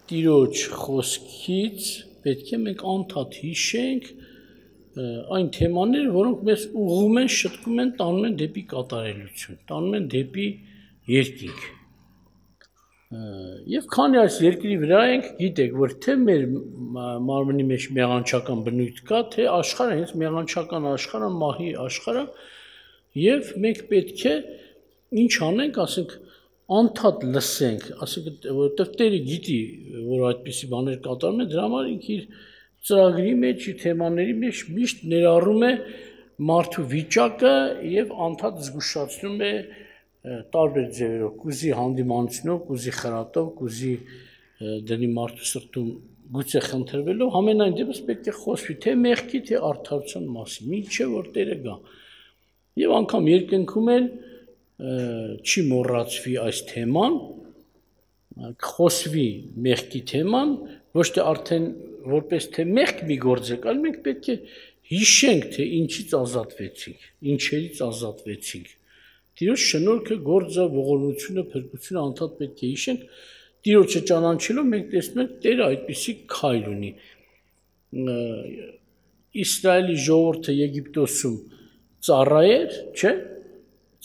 Տիրոջ խոսքից պետք է մենք անդադ հիշենք այն թեմաները, որոնք մեզ ուղղում են, շտկում են, տանում են դեպի կատարելություն, տանում են դեպի երկինք։ Եվ քանի այս երկրի վրա ենք, գիտեք, որ թե մեր մարմնի մեջ մեղանչական բնույթ կա, թե աշխարհը հենց մեղանչական աշխարհը, մահի աշխարհը, եւ մենք պետք է ինչ անենք, ասենք անդադ լսենք, ասենք որովհետեւ Տերը գիտի, որ այդպիսի բաներ կատարում են, դրա համար ինքը իր ծրագրի մեջ, իր թեմաների մեջ միշտ ներառում է մարդու վիճակը եւ անդադ զգուշացնում է տարբեր ձևերով, կուզի հանդիմանությունով, կուզի խրատով, կուզի դրի մարդու սրտում գուցե խնդրվելով, ամենայն դեպս պետք է խոսվի թե մեղքի, թե արդարության մասին, ինչե որ Տերը գա։ Եվ անգամ երկնքում էլ չի մոռացվի այս թեման, խոսվի մեղքի թեման, ոչ թե արդեն որպես թե մեղք մի գործ է, այլ մենք պետք է հիշենք, թե ինչից ազատվեցինք, ինչերից ազատվեցինք։ Տիրոջ շնորհքը, գործը, ողորմությունը, փրկությունը անդադ պետք է հիշենք, Տիրոջը ճանաչելով մենք տեսնում ենք Տերը այդպիսի քայլ ունի։ Իսրայելի ժողովուրդը Եգիպտոսում ծառայեր, չէ՞,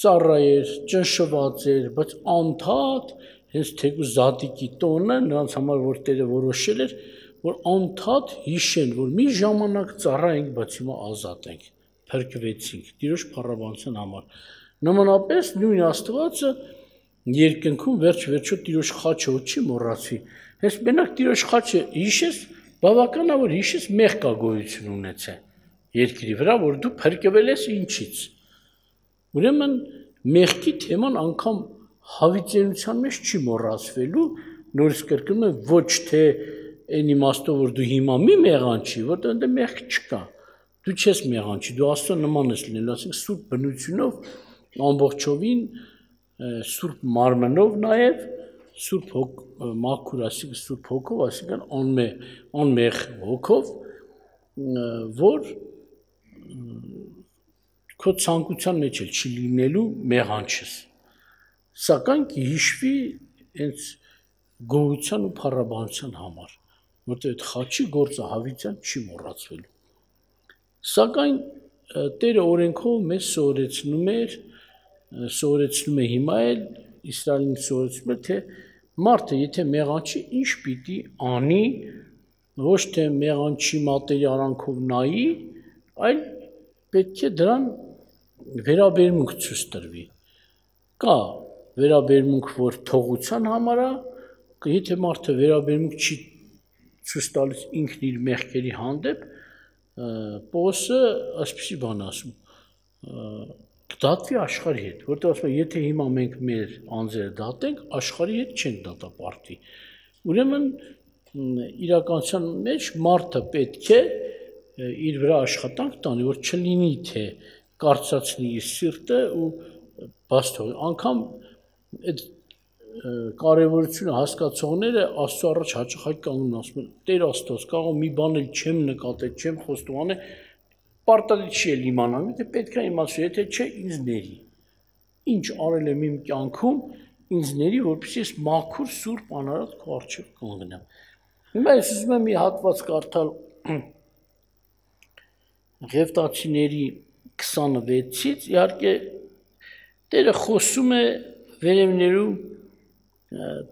ծառայեր, ճնշված էր, բայց անդադ հենց թեկուզ Զատիկի տոնը նրանց համար որ Տերը որոշել էր, որ անդադ հիշեն, որ մի ժամանակ ծառայենք, բայց հիմա ազատ ենք, փրկվեցինք Տիրոջ փառաբանության համար։ Նմանապես նույն Աստվածը երկնքում վերջ-վերջո Տիրոջ խաչը չի մոռացվի։ Հենց մենակ Տիրոջ խաչը հիշես, բավական է որ հիշես մեղք գոյություն ունեցե երկրի վրա, որ դու փրկվել ես ինչից։ Ուրեմն մեղքի թեման անգամ հավիտենության մեջ չի մոռացվելու, նորից կրկնում եմ ոչ թե այն իմաստով որ դու հիմա մի մեղանչի, որտեղ այնտեղ մեղք չկա։ Դու չես մեղանչի, դու Աստծո նման ես լինելու, ասենք սուրբ բնությունով ամբողջովին սուրբ մարմնով նաև սուրբ մաքուր, այսինքն սուրբ հոգով, այսինքն անմեղ հոգով, որ քո ցանկության մեջ էլ չի լինելու մեղանչս։ Սակայն հիշվի հենց գոհության ու փառաբանության համար, որտեղ այդ խաչի գործը հավիտյան չի մոռացվելու։ Սակայն Տերը օրենքով մեզ սովորեցնում է հիմա էլ Իսրայելին սովորեցնում է, թե մարդը եթե մեղանչի, ինչ պիտի անի, ոչ թե մեղանչի մատերի արանքով նայի, այլ պետք է դրան վերաբերմունք ցույց տրվի։ Կա վերաբերմունք, որ թողության համար է, եթե մարդը վերաբերմունք չի ցույց տալիս ինքն իր մեղքերի հանդեպ, Պողոսը այսպիսի բան ասում, կդատվի աշխարհի հետ, որտեղ ասում է, եթե հիմա մենք մեր անձերը դատենք, աշխարհի հետ չենք դատապարտվի։ Ուրեմն իրականության մեջ մարդը պետք է իր վրա աշխատանք տանի, որ չլինի թե կարծացնի իր սիրտը ու բաց թողի։ Անգամ այդ կարևորությունը հասկացողները Աստծո առաջ հաճախ կանգնում ասում են. Տեր Աստված, կարող մի բան էլ չեմ նկատել, չեմ խոստովանել, պարտադիր չի էլ իմանալ, թե պետք է իմացու, եթե չէ ինձ ների։ Ինչ արել եմ իմ կյանքում, ինձ ների, որպեսզի ես մաքուր սուրբ անարատ քո առջև կանգնեմ։ Հիմա ես ուզում եմ մի հատված կարդալ Ղևտացիների 26-ից, իհարկե Տերը խոսում է վերևներում,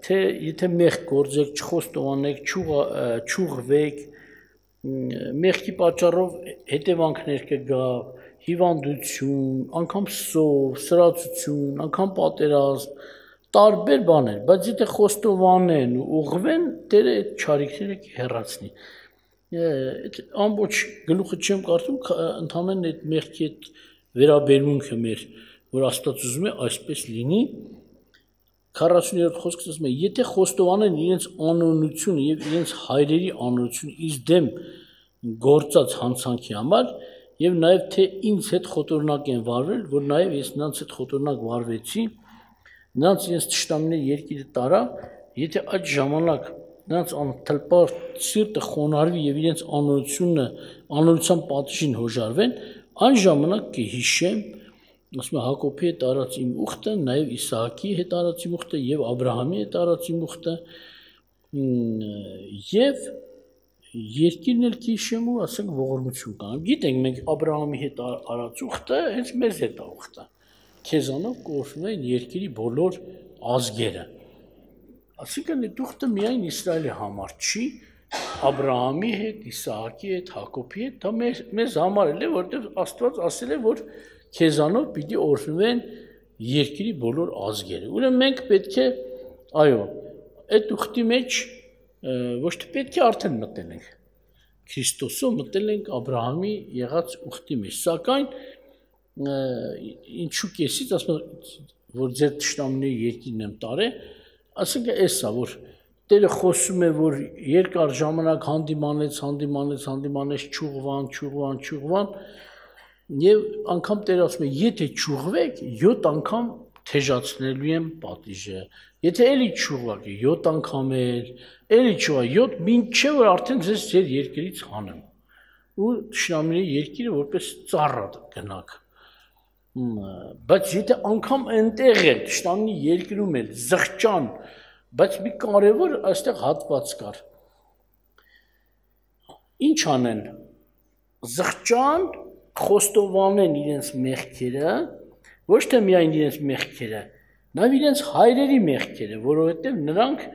թե եթե մեղք գործեք, չխոստովանեք, չուղղվեք, մեղքի պատճառով հետևանքներ կգա, հիվանդություն, անգամ սով, սրածություն, անգամ պատերազմ, տարբեր բաներ, բայց եթե խոստովանեն ու ուղղվեն, Տերը այդ չարիքները կհեռացնի։ Այդ ամբողջ գլուխը չեմ կարդում, ընդհանրեն այդ մեղքի այդ վերաբերմունքը մեր, որ Աստված ուզում է այսպես լինի, 40-րդ խոսքն ասում է, եթե խոստովանեն իրենց անօրենությունը եւ իրենց հայրերի անօրենությունը իս դեմ գործած հանցանքի համար եւ նաեւ թե ինձ հետ խոտորնակ են վարվել, որ նաեւ ես նրանց հետ խոտորնակ վարվեցի, նրանց իրենց թշնամիների երկիրը տարա, եթե այդ ժամանակ նրանց անթլպար սիրտը խոնարհվի եւ իրենց անօրենության պատժին հոժարվեն, այն ժամանակ կհիշեմ, ասում է Հակոբի հետ արած իմ ուխտը, նաև Իսահակի հետ արած իմ ուխտը եւ Աբրահամի հետ արած իմ ուխտը, Եվ երկիրն էլ քիշեմ ու ասենք ողորմություն կանեմ։ Գիտենք մենք Աբրահամի հետ արած ուխտը հենց մեզ հետ է ուխտը։ Քեզանով կորվում են երկրի բոլոր ազգերը։ Այսինքն այդ ուխտը միայն Իսրայելի համար չի, Աբրահամի հետ, Իսահակի հետ, Հակոբի հետ, դա մեզ համար էլ է, որտեղ Աստված ասել է, որ քեզանով պիտի օրհնվեն երկրի բոլոր ազգերը։ Ուրեմն մենք պետք է, այո, այդ ուխտի մեջ ոչ թե պետք է արդեն մտել ենք Քրիստոսով մտել ենք Աբրահամի եղած ուխտի մեջ, սակայն ինչու կեսից ասում որ ձեր թշնամիների երկիրն եմ տարել, ասենք էսա որ Տերը խոսում է որ երկար ժամանակ հանդիմանեց, ճուղվան եւ անգամ Տերը ասում է եթե ճուղվեք 7 անգամ թեժացնելու եմ պատիժը, եթե էլի ճուղվակ 7 անգամ էլի ճուղա 7 մինչեւ որ արդեն ձեզ ձեր երկրից հանեմ ու թշնամիների երկիրը որպես ծառա գնաք բայց եթե անգամ այնտեղ է թշնամի երկրում է զղջան բայց մի կարևոր այստեղ հատված կար ինչ անեն զղջան խոստովանեն իրենց մեղքերը ոչ թե միայն իրենց մեղքերը նաև իրենց հայրերի մեղքերը որովհետև նրանք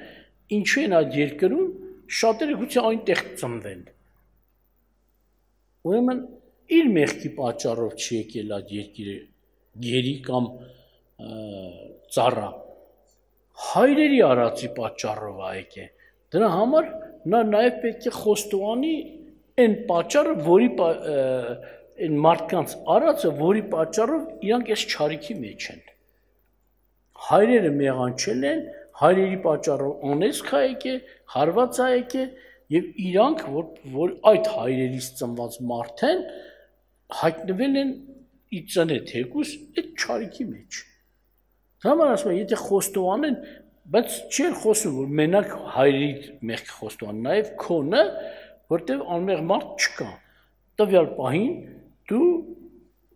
ինչու են այդ երկրում շատերը գուցե այնտեղ ծնվեն ուրեմն իր մեղքի պատճառով չի եկել այդ երկիրը գերի կամ ծառա հայրերի արածի պատճառով եկե դրա համար նա նաև պետք է խոստովանի այն պատճառը որի այն մարդկանց արածը որի պատճառով իրանք այս չարիքի մեջ են հայրերը մեղանչել են հայրերի պատճառով անեծք է եկե հարված է եկե եւ իրանք որ այդ հայրերից ծնված մարդ են հայտնվել են իծնե թեկուս այդ չարիքի մեջ Դրա համար ասում եմ, եթե խոստովանեն, բայց չի խոսում, որ մենակ հայրի մեղքը խոստովան, նաև քոնը, որտեղ անմեղ մարդ չկա։ Տվյալ պահին դու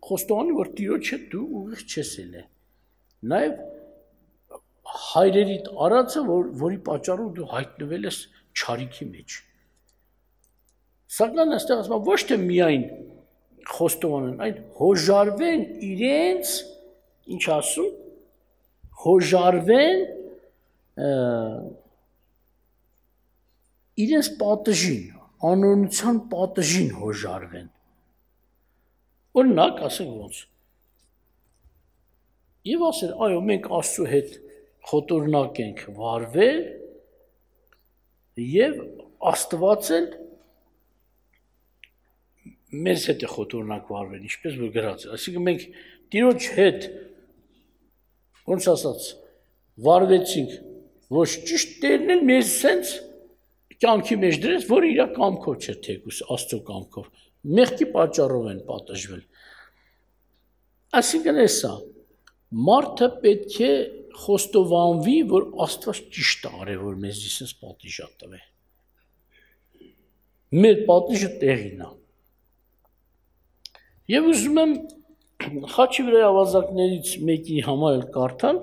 խոստովանի, որ Տիրոջ հետ դու ուղիղ չես ելել։ Նաև հայրերիդ արածը, որի պատճառով դու հայտնվել ես չարիքի մեջ։ Սակայն այստեղ ասում եմ, ոչ թե միայն խոստովանեն, այլ հոժարվեն իրենց, ինչ ասում հոժարվեն իրենց պատժին, անօրինության պատժին հոժարվեն։ Օրինակ, ասենք ոնց։ Եվ ասել, այո, մենք Աստծո հետ խոտորնակ ենք վարվել եւ Աստված էլ մեզ հետ է խոտորնակ վարվել, ինչպես որ գրած է։ Այսինքն մենք Տիրոջ հետ ոնց ասած վարվեցինք ոչ ճիշտ Տերն էլ մեզ սենց կյանքի մեջ դրեց որ իր կամքով չէ թեկուս Աստծո կամքով մեղքի պատճառով են պատժվել այսինքն էսա մարդը պետք է խոստովանվի որ Աստված ճիշտ է արել որ մեզ սենց պատիժ տվե մեր պատիժը տեղին է եւ ուզում եմ Խաչի վրա ավազակներից մեկի համար էլ կարդալ,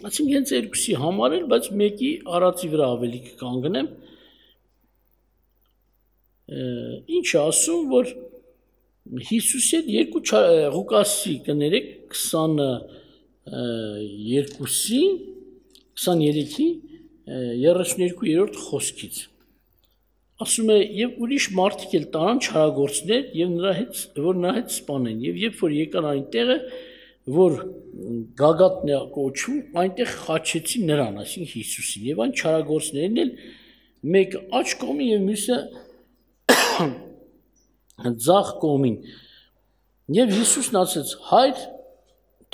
այսինքն հենց երկուսի համար էլ, բայց մեկի արածի վրա ավելի կկանգնեմ, ինչ ասում, որ Հիսուսի հետ երկու Ղուկասի կներեք 23-ի 32-րդ խոսքից ասում է եւ ուրիշ մարդիկ էլ տարան չարագործներ եւ նրա հետ սպանեն եւ երբ որ եկան այնտեղը որ գագաթն է կոչվում այնտեղ խաչեցին նրան այսինքն Հիսուսին եւ այն չարագործներն էլ մեկը աջ կողմին եւ մյուսը ձախ կողմին եւ Հիսուսն ասեց հայր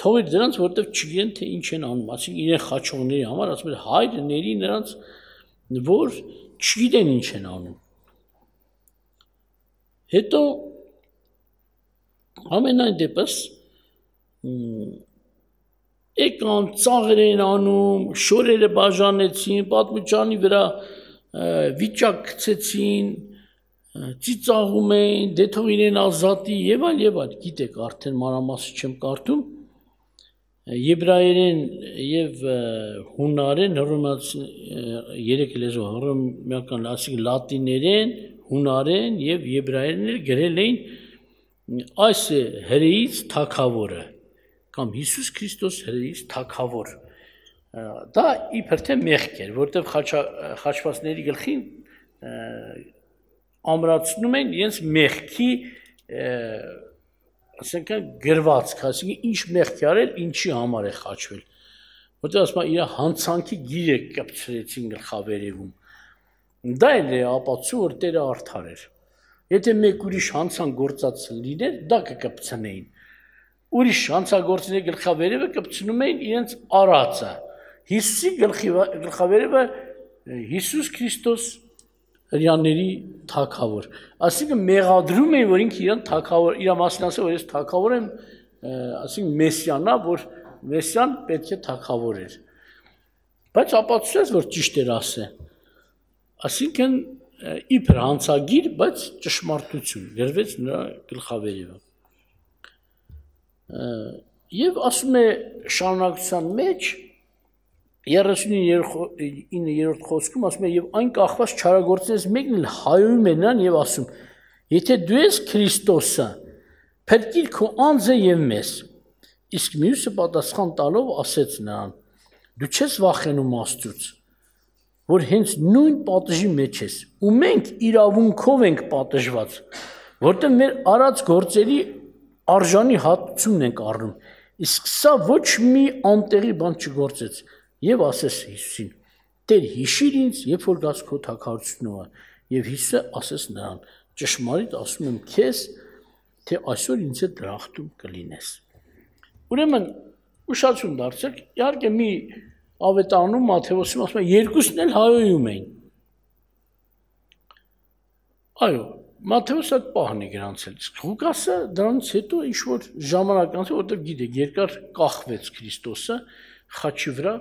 թողիր դրանց որտեվ չգիտեն թե ինչ են անում այսինքն իրեն խաչողների համար ասում է հայր ների նրանց որ չգիտեն ինչ են անում հետո ամենայն դեպս եկան ծաղր են անում շորերը բաժանեցին պատմուճանի վրա վիճակ գցեցին ծիծաղում էին դե թող իրեն ազատի եւ այլ գիտեք արդեն մանրամասը չեմ կարդում եբրայերեն եւ հունարեն երեք լեզու հռոմեական ասիկ լատիներեն, հունարեն եւ եբրայերեն գրել էին այս հրեից թագավորը կամ Հիսուս Քրիստոս հրեից թագավոր դա իբր թե մեղք էր որտեղ խաչվածների գլխին ամրացնում են իրենց մեղքի ասենք գրվածք, ասենք ինչ մեղք արել, ինչի համար է խաչվել։ Որտեղ ասում են իր հանցանքի գիրը կպցրեցին գլխավերևում։ Դա էլ է ապացույց, որ Տերը արդար էր։ Եթե մեկ ուրիշ հանցանք գործած լիներ, դա կկպցնեին։ Ուրիշ հանցագործների գլխավերևը կպցնում էին իրենց արածը։ Հիսուսի գլխավերևը Հիսուս Քրիստոս հрьяաների թագավոր։ Այսինքն մեղադրում էին, որ ինքը իրան թագավոր, իր մասին ասել, որ ես թագավոր եմ, այսինքն մեսիանա, որ մեսիան պետք է թագավոր էր։ Բայց ապացուցեց, որ ճիշտ էր ասել։ Այսինքն իբր հանցագիր, բայց ճշմարտություն գրվեց նրա գլխավերևը։ Եվ ասում է շարունակության մեջ 39-րդ խոսքում ասում է եւ այն կախված չարագործներից մեկն էլ հայոյում է նրան եւ ասում եթե դու ես Քրիստոսը փրկիր քո անձը եւ մեզ իսկ մյուսը պատասխան տալով ասեց նրան դու չես վախենում Աստծուց որ հենց նույն պատժի մեջ ես ու մենք իրավունքով ենք պատժված որտեղ մեր արած գործերի արժանի հատուցումն ենք առնում իսկ սա ոչ մի անտեղի բան չգործեց Եվ ասես Հիսուսին, Տեր հիշիր ինձ, երբ որ գաս քո թագավորությունը, եւ Հիսուսը ասես նրան, ճշմարիտ ասում եմ քեզ, թե այսօր ինձ հետ դրախտում կլինես։ Ուրեմն ուշադրություն դարձեք, իհարկե մի ավետարանում Մատթեոսում ասում է երկուսն էլ հայոյում էին։ Այո, Մատթեոսը այդ պահն է գրանցել, իսկ Ղուկասը դրանից հետո ինչ-որ ժամանակ անց, որտեղ գիտեք, երկար կախվեց Քրիստոսը խաչի վրա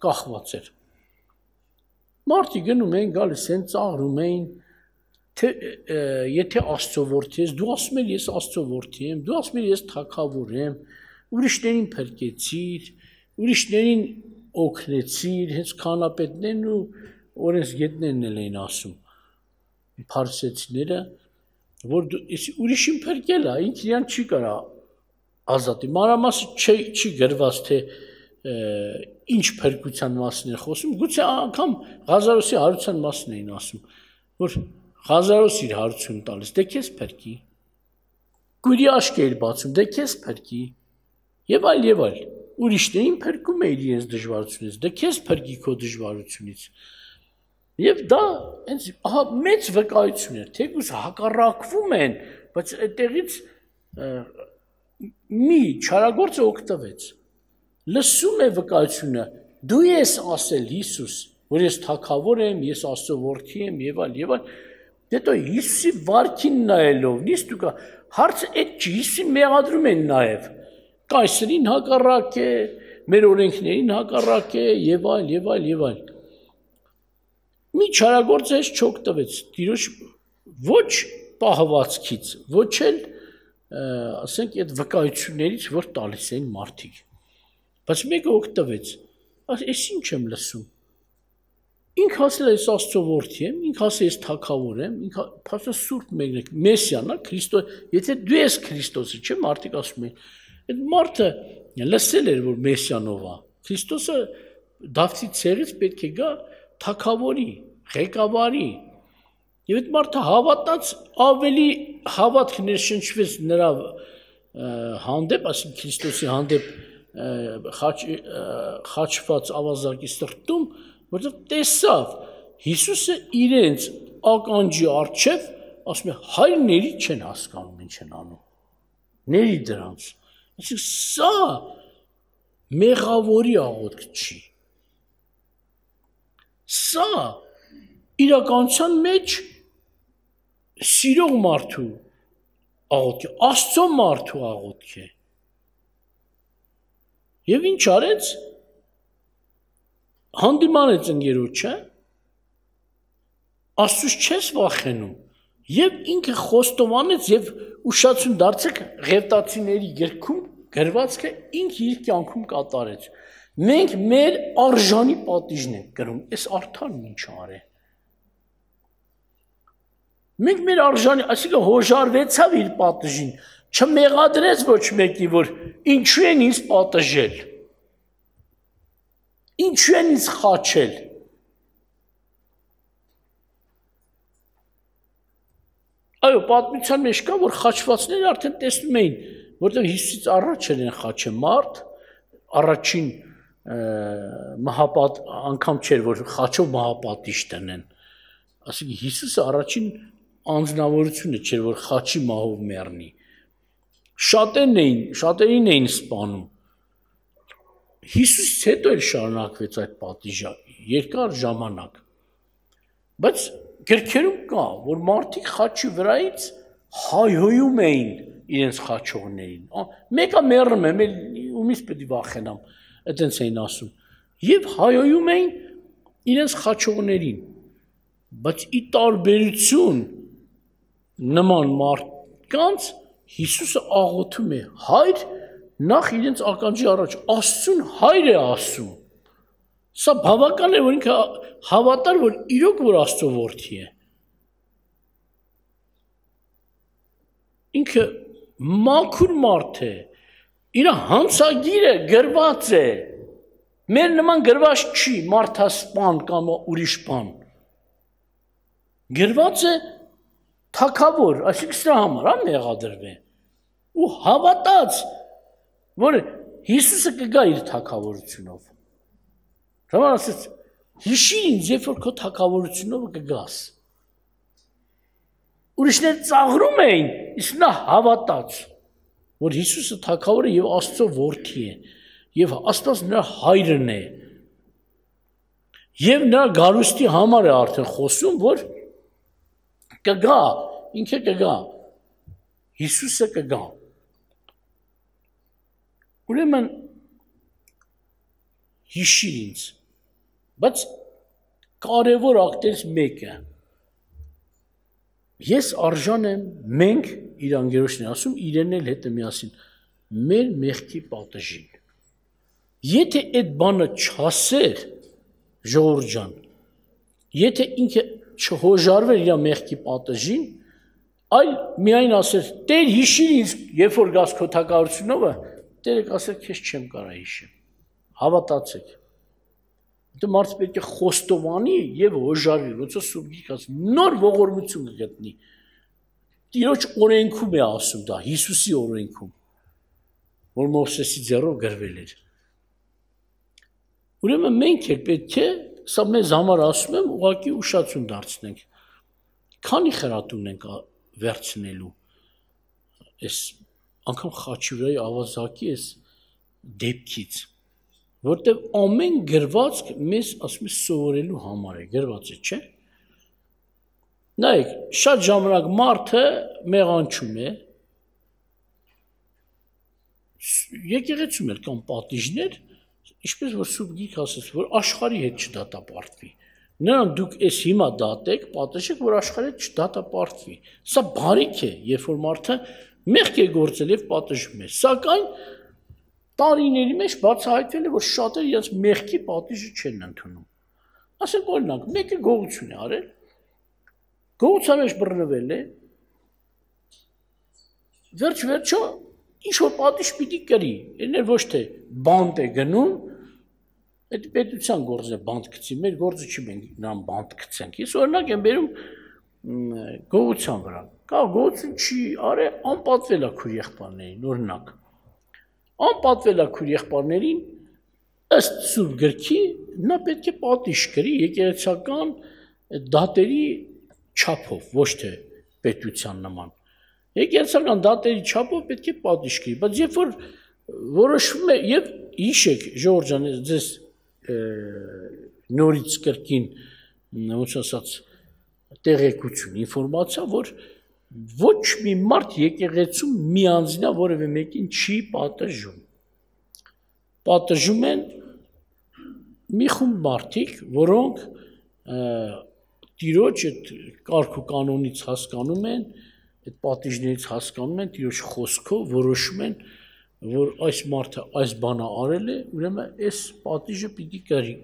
կախված էր։ Մարդիկ գնում էին, գալիս են, ծաղրում էին, թե եթե Աստծո որդի ես, դու ասում ես Աստծո որդի եմ, դու ասում ես թագավոր եմ, ուրիշներին փրկեցիր, ուրիշներին օգնեցիր, հենց քահանապետներն ու օրենսգետներն էլ էին ասում, փարիսեցիները, որ ուրիշին փրկել է, ինքը իրան չի կարա ազատի, մանրամասը չի գրված, թե ինչ փրկության մասին է խոսում, գուցե անգամ Ղազարոսի հարության մասին էին ասում, որ Ղազարոս իր հարություն տալիս, դե քեզ փրկի, գուրի աշկ էր բացում, դե քեզ փրկի, եւ այլ, ուրիշներին փրկում է իրենց դժվարությունից, դե քեզ փրկի քո դժվարությունից, եւ դա հենց ահա մեծ վկայություն էր, թեկուզ հակառակվում են, բայց այդտեղից մի չարագործը օգտվեց լսում է վկայությունը, դու ես ասել Հիսուս, որ ես թագավոր եմ, ես Աստծո որդի եմ եւ այլ, հետո Հիսուսի վարքին նայելով, նիստ ու հարցը այդ չի, Հիսուսին մեղադրում են նաեւ, կայսրին հակառակ է, մեր օրենքներին հակառակ է եւ այլ։ Մի չարագործը ես չօգտվեց, Տիրոջ ոչ պահվածքից, ոչ էլ, ասենք, այդ վկայություններից, որ տալիս էին մարդիկ։ Բայց մեկը օգտվեց, այս ինչ եմ լսում, ինք ասել ես Աստծո որդի եմ, ինք ասել ես թագավոր եմ, ինք ասել սուրբ մեկնեք, մեսիան, Քրիստոս, եթե դու ես Քրիստոսը, չէ, մարդիկ ասում են, այդ մարդը լսել էր, որ մեսիանով է, Քրիստոսը Դավթի ցեղից պետք է գա թագավորի, ղեկավարի, եւ այդ մարդը հավատաց, ավելի հավատք ներշնչվեց նրա հանդեպ, ասին Քրիստոսի հանդեպ խաչված ավազակի սրտում, որտեղ տեսավ Հիսուսը իրենց ականջի առջև ասում է հայրների չեն հասկանում ինչ են անում, ների դրանց, այսինքն սա մեղավորի աղոթք չի, սա իրականության մեջ սիրող մարդու աղոթք է, Աստծո մարդու աղոթք է, Եվ ինչ արեց, հանդիմանեց ընկերոջը, Աստծուց չես վախենում, եւ ինքը խոստովանեց եւ ուշադրություն դարձեք Ղևտացիների գրքում գրվածքը ինքը իր կյանքում կատարեց։ Մենք մեր արժանի պատիժն ենք կրում, այս արդարն ինչ արե։ Մենք մեր արժանի, այսինքն հոժարվեցավ իր պատիժին, չմեղադրեց ոչ մեկի, որ ինչու են ինձ պատժել, ինչու են ինձ խաչել։ Այո, պատմության մեջ կա, որ խաչվածները արդեն տեսնում էին, որտեղ Հիսուսից առաջ են խաչը մարդ, առաջին մահապատ անգամ չէր, որ խաչով մահապատիժ տնեն։ Այսինքն Հիսուսը առաջին անձնավորությունը չէր, որ խաչի մահով մեռնի։ Շատերին էին սպանում։ Հիսուսից հետո էլ շարունակվեց այդ պատիժը երկար ժամանակ։ Բայց գրքերում կա, որ մարդիկ խաչի վրայից հայհոյում էին իրենց խաչողներին։ Մեկը մեռնում է, ումից պետք է վախենամ, այդպես էին ասում։ Եվ հայհոյում էին իրենց խաչողներին։ Բայց ի տարբերություն նման մարդկանց Հիսուսը աղոթում է. Հայր, նախ իրենց ականջի առաջ Աստծուն հայր է ասում։ Սա բավական է, որ ինքը հավատար, որ իրոք որ Աստծո որդի է։ Ինքը մաքուր մարդ է, իր հանցագիրը գրված է։ Մեր նման գրված չի մարդասպան կամ ուրիշ բան։ Գրված է թագավոր, այսինքն սրա համար մեղադրվե։ Ու հավատաց, որ Հիսուսը կգա իր թագավորությունով։ Ժամանակ ասեց, հիշի ինձ, երբ որ քո թագավորությունով կգաս։ Ուրիշներ ծաղրում էին, իսկ նա հավատաց, որ Հիսուսը թագավոր է եւ Աստծո որդի է, եւ Աստված նրա հայրն է։ Եվ նրա գարուստի համար է արդեն խոսում, որ կգա, ինքը կգա, Հիսուսը կգա։ Ուրեմն հիշիր ինձ, բայց կարևոր ակտերից մեկը, ես արժան եմ, մենք իր անգերոջն է ասում, իրեն էլ հետը միասին, մեր մեղքի պատժին։ Եթե այդ բանը չասեր, ժողովուրդ ջան, եթե ինքը չհոժարվեր իր մեղքի պատժին, այլ միայն ասեր, Տեր հիշիր ինձ, երբ որ գաս քո թագավորությունով, Տերը կասեր, քեզ չեմ կարա հիշեմ, հավատացեք։ Դա մարդը պետք է խոստովանի եւ հոժարվի, ոնց Սուրբ Գիրքը ասում, նոր ողորմություն կգտնի։ Տիրոջ օրենքում է ասում դա, Հիսուսի օրենքում, որ Մովսեսի ձեռով գրվել էր։ Ուրեմն մենք էլ պետք է, սա մեզ համար ասում եմ, ուղղակի ուշացում դարձնենք։ Քանի խրատ ունենք վերցնելու այս անգամ խաչուրայի ավազակի այս դեպքից, որտեղ ամեն գրվածք մեզ ասում է սովորելու համար է, գրված է, չէ՞։ Նայեք, շատ ժամանակ մարդը մեղանչում է, եկեղեցում էլ կան պատիժներ, ինչպես որ Սուրբ Գիրքը ասես, որ աշխարհի հետ չդատապարտվի։ Նրան դուք այս հիմա դատեք, պատժեք, որ աշխարհի հետ չդատապարտվի։ Սա բարիք է, երբ որ մարդը մեղք է գործել եւ պատժում է։ Սակայն տարիների մեջ բացահայտվել է, որ շատերը իրենց մեղքի պատիժը չեն ընդունում։ Ասենք օրինակ, մեկը գողություն է արել, գողության մեջ բռնվել է, վերջ-վերջո ինչ որ պատիժ պիտի կրի, այններ ոչ թե բանտ է գնում, այդ պետության գործը բանտ գցի, մեր գործը չի մենք նրան բանտ գցենք։ Ես օրինակ եմ բերում գողության վրա։ Կա գողություն չի արել, անպատվել է քույր եղբայրներին, օրինակ։ Անպատվել է քույր եղբայրներին, ըստ Սուրբ Գրքի նա պետք է պատիժ կրի եկեղեցական դատերի չափով, ոչ թե պետության նման։ Եկեղեցական դատերի չափով պետք է պատիժ կրի, բայց երբ որ որոշվում է եւ հիշեք ժողովուրդ ջան, ձեզ նորից կրկին ոնց ասած տեղեկություն, ինֆորմացիա, որ ոչ մի մարդ եկեղեցում միանձնյա որևէ մեկին չի պատժում։ Պատժում են մի խումբ մարդիկ, որոնք Տիրոջ այդ կարգ ու կանոնից հասկանում են, այդ պատիժներից հասկանում են, Տիրոջ խոսքով որոշում են, որ այս մարդը այս բանը արել է, ուրեմն այս պատիժը պիտի կրի։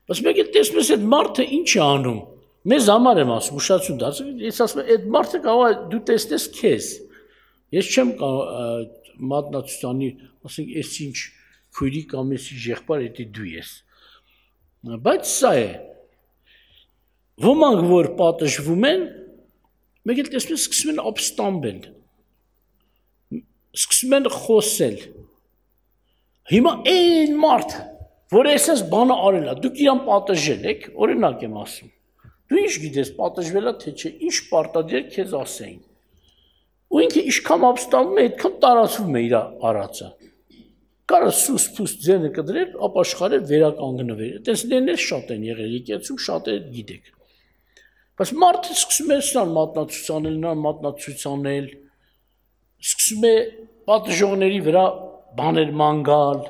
Բայց մեկ էլ տեսնում ես այդ մարդը ինչ է անում։ Մեզ համար եմ ասում, ուշադրություն դարձրու, ես ասում եմ, այդ մարդը կարող է դու տեսնես քեզ։ Ես չեմ մատնացուցանի, ասենք, այս ինչ քույրի կամ էս եղբայր, դա դու ես։ Բայց սա է։ Ոմանք որ պատժվում են, մեկ էլ տեսնում ես սկսում են ապստամբել։ Սկսում են խոսել։ Հիմա այն մարդը, որ այսպես բանը արել է, դուք իրան պատժել եք, օրինակ եմ ասում։ Դու ինչ գիտես, պատժվելա թե չէ, ինչ պարտադիր քեզ ասեին։ Ու ինքը ինչքան ապստամբում է, այդքան տարածվում է իր արածը։ Կարա սուս-փուս ձենը կդրել, ապաշխարել, վերականգնվել։ Տեսնելներ շատ են եղել, եկեղեցում շատերը գիտեք։ Բայց մարդը սկսում է սան մատնացուցանել, սկսում է պատժողների վրա բաներ մանգալ,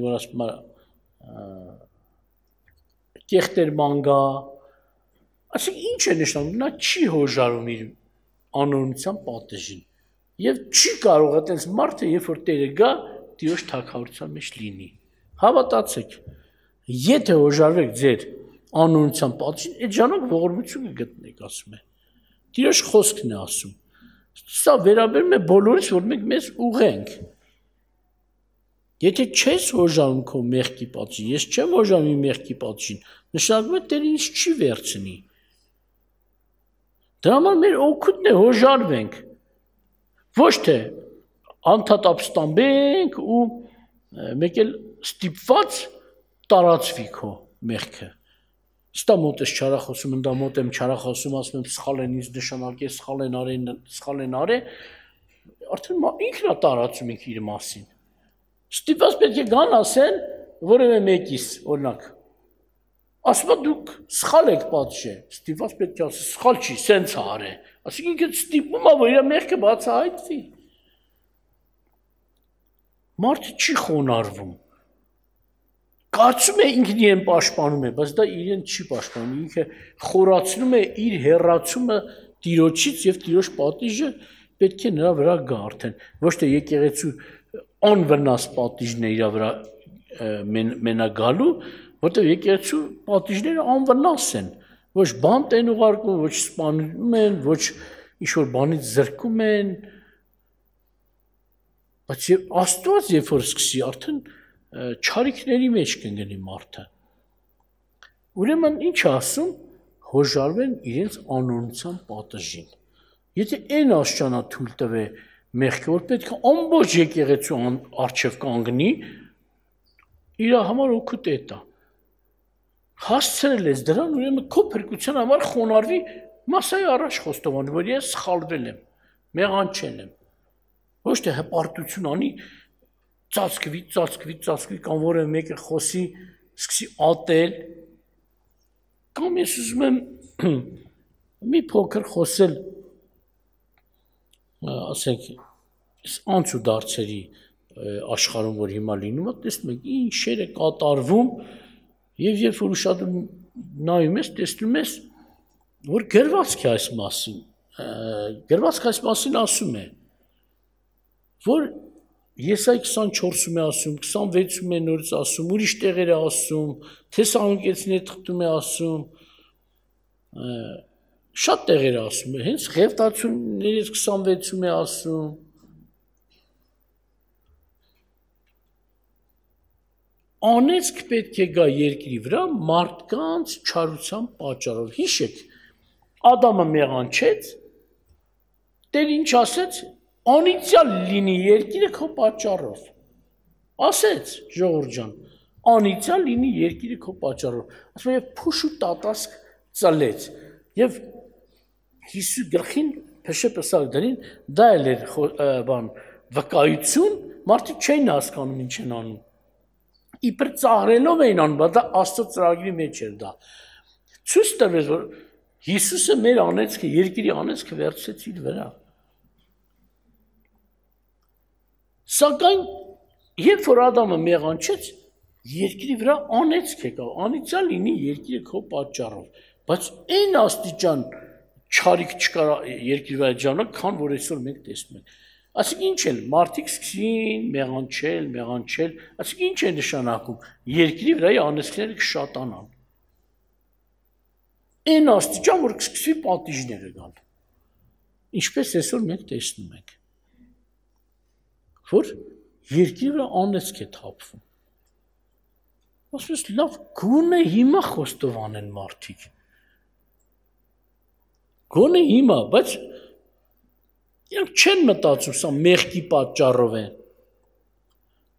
որ ասում է կեղտեր մանգա, ասենք ինչ է նշանակում, նա չի հոժարում իր անօրինության պատժին եւ չի կարող այդպես մարդը երբ որ Տերը գա Տիրոջ թագավորության մեջ լինի։ Հավատացեք, եթե հոժարվեք ձեր անօրինության պատժին, այդ ժամանակ ողորմություն կգտնեք, ասում է։ Տիրոջ խոսքն է ասում։ Սա վերաբերում է բոլորից, որ մենք մեզ ուղենք։ Եթե չես հոժարում քո մեղքի պատժին, ես չեմ հոժարում իմ մեղքի պատժին, նշանակում է Տերը ինձ չի վերցնի։ Դրա համար մեր օգուտն է հոժարվենք, ոչ թե անդադ ապստամբենք ու մեկ էլ ստիպված տարածվի քո մեղքը։ Ստա մոտ ես չարախոսում, ընդա մոտ եմ չարախոսում, ասում եմ սխալ են ինձ նշանակել, սխալ են արել, արդեն ինքն է տարածում իր մասին։ Ստիպված պետք է գան ասեն որևէ մեկիս, օրինակ, ասում է դուք սխալ եք պատժել, ստիպված պետք է ասի, սխալ չի, սենց է արել, ասենք ինքը ստիպում է, որ իր մեղքը բացահայտվի։ Մարդը չի խոնարհվում։ Կարծում է ինքն իրեն պաշտպանում է, բայց դա իրեն չի պաշտպանում, ինքը խորացնում է իր հեռացումը Տիրոջից եւ Տիրոջ պատիժը պետք է նրա վրա գա արդեն, ոչ թե եկեղեցու անվնաս պատիժն է իր վրա մենագալու, որտեղ եկեղեցու պատիժները անվնաս են, ոչ բանտ են ուղարկում, ոչ սպանում են, ոչ ինչ-որ բանից զրկում են, բայց Աստված երբ որ սկսի արդեն չարիքների մեջ կընկնի մարդը։ Ուրեմն ինչ ասում, հոժարվեն իրենց անօրինության պատժին։ Եթե այն աշճանա թույլ տվե մեղքը, որ պետք է ամբողջ եկեղեցու առջև կանգնի, իր համար օգուտ է տա։ Հասցրել ես դրան, ուրեմն քո փրկության համար խոնարհվի, մասայի առաջ խոստովանի, որ ես սխալվել եմ, մեղանչել եմ։ Ոչ թե հպարտություն անի, ծածկվի, կամ որևէ մեկը խոսի, սկսի ատել, կամ ես ուզում եմ մի փոքր խոսել, ասենք, անցու դարձերի աշխարհում, որ հիմա լինում է, տեսնում եք, ինչեր է կատարվում, եւ երբ որ ուշադրում նայում ես, տեսնում ես, որ գրվածք է այս մասին ասում է, որ Եսայի 24-ում է ասում, 26-ում է նորից ասում, ուրիշ տեղեր է ասում, Թեսաղոնիկեցիների թղթում է ասում, շատ տեղեր է ասում, հենց Ղևտացիներից 26-ում է ասում, անեծք պետք է գա երկրի վրա մարդկանց չարության պատճառով։ Հիշեք, Ադամը մեղանչեց, Տեր ինչ ասեց, անիծյալ լինի երկիրը քո պատճառով։ Ասեց ժողովուրդ ջան, անիծյալ լինի երկիրը քո պատճառով։ Ասում է փուշ ու տատասկ ծլեց եւ Հիսուս գլխին փշեպսալ դրին, դա էլ էր բան վկայություն, մարդիկ չէին հասկանում ինչ են անում։ Իբր ծաղրելով էին անում, բայց դա Աստծո ծրագրի մեջ էր դա։ Ցույց տվեց, որ Հիսուսը մեր անեծքը, երկրի անեծքը վերցրեց իր վրա։ Սակայն երբ որ Ադամը մեղանչեց, երկրի վրա անեծք եկավ, անիծյալ լինի երկիրը քո պատճառով, բայց այն աստիճան չարիք չկար երկրի վրա ժամանակ, քան որ այսօր մենք տեսնում ենք։ Այսինքն ինչ են մարդիկ սկսին մեղանչել, այսինքն ինչ է նշանակում երկրի վրայի անեծքները կշատանան։ Այն աստիճան որ կսկսվի պատիժները գալ։ Ինչպես այսօր մենք տեսնում ենք, որ երկրի վրա անեծք է թափվում։ Ասես լավ գոնե հիմա խոստովանեն մարդիկ։ Գոնե հիմա, բայց իրենք չեն մտածում, սա մեղքի պատճառով է։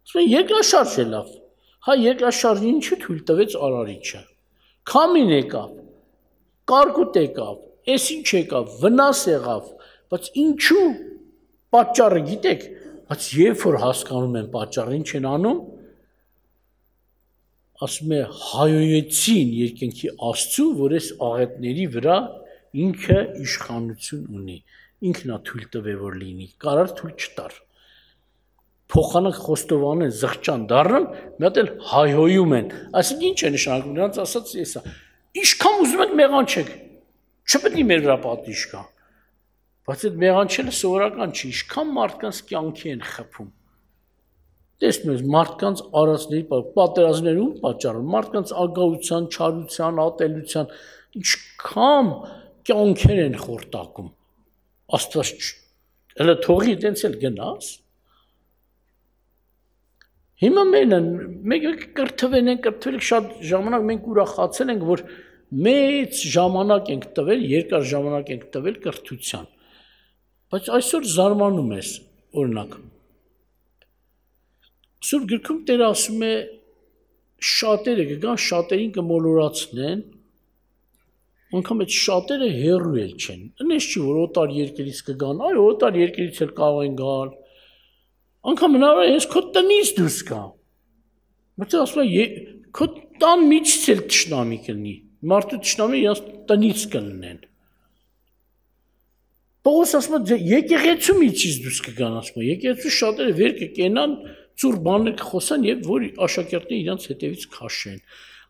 Ասում են երկրաշարժ է լավ։ Հա երկրաշարժը ինչու թույլ տվեց Արարիչը։ Քամին եկավ, կարկուտ եկավ, էս ինչ եկավ, վնաս եղավ, բայց ինչու պատճառը գիտեք, բայց երբ որ հասկանում են պատճառը ինչ են անում, ասում է հայոյեցին երկնքի Աստծու, որ այս աղետների վրա ինքը իշխանություն ունի, ինքն է թույլ տվել որ լինի, կարար թույլ չտար։ Փոխանակ խոստովանեն, զղջան դառնան, մի հատ էլ հայհոյում են։ Այսինքն ինչ է նշանակում, նրանց ասած էսա։ Ինչքան ուզում եք մեղանչեք, չպետք է մեր վրա պատիժ կա։ Բայց այդ մեղանչելը սովորական չի, ինչքան մարդկանց կյանքի են խփում։ Տեսնում ես մարդկանց արածների պատերազմներում պատճառը, մարդկանց ագահության, չարության, ատելության, ինչքան կյանքեր են խորտակում։ Աստված հələ թողի այդպես էլ գնաս։ Հիմա մենք կրթվել ենք շատ ժամանակ մենք ուրախացել ենք, որ մեծ ժամանակ ենք տվել, երկար ժամանակ ենք տվել կրթության։ Բայց այսօր զարմանում ես, օրինակ։ Սուրբ գրքում Տերը ասում է շատերը կգան, շատերին կմոլորացնեն, անգամ այդ շատերը հեռու էլ չեն։ Այնպես չի, որ օտար երկրից կգան, այո, օտար երկրից էլ կարող են գալ։ Անգամ հնարավոր է հենց քո տնից դուրս գա։ Բայց ասում է քո տան միջից էլ թշնամի կլինի։ Մարդու թշնամի իրաց տնից կլինեն։ Պողոս ասում է եկեղեցու միջից դուրս կգան, ասում է եկեղեցու շատերը վեր կկենան, ծուր բաներ կխոսան եւ որ աշակերտները իրանց հետևից քաշեն։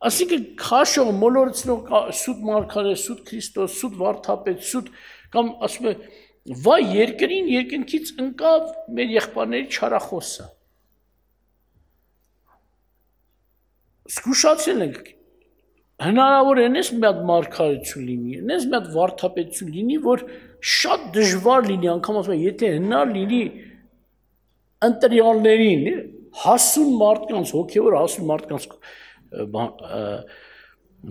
Այսինքն քաշող, մոլորեցնող սուտ մարգարե, սուտ Քրիստոս, սուտ վարդապետ, սուտ կամ ասում է վայ երկրին երկնքից ընկավ մեր եղբայրների չարախոսը։ Զգուշացել ենք հնարավոր է նես մի հատ մարգարեություն լինի, նես մի հատ վարդապետություն լինի, որ շատ դժվար լինի, անգամ ասում եմ, եթե հնար լինի ընտրյալներին, հասուն մարդկանց, հոգևոր հասուն մարդկանց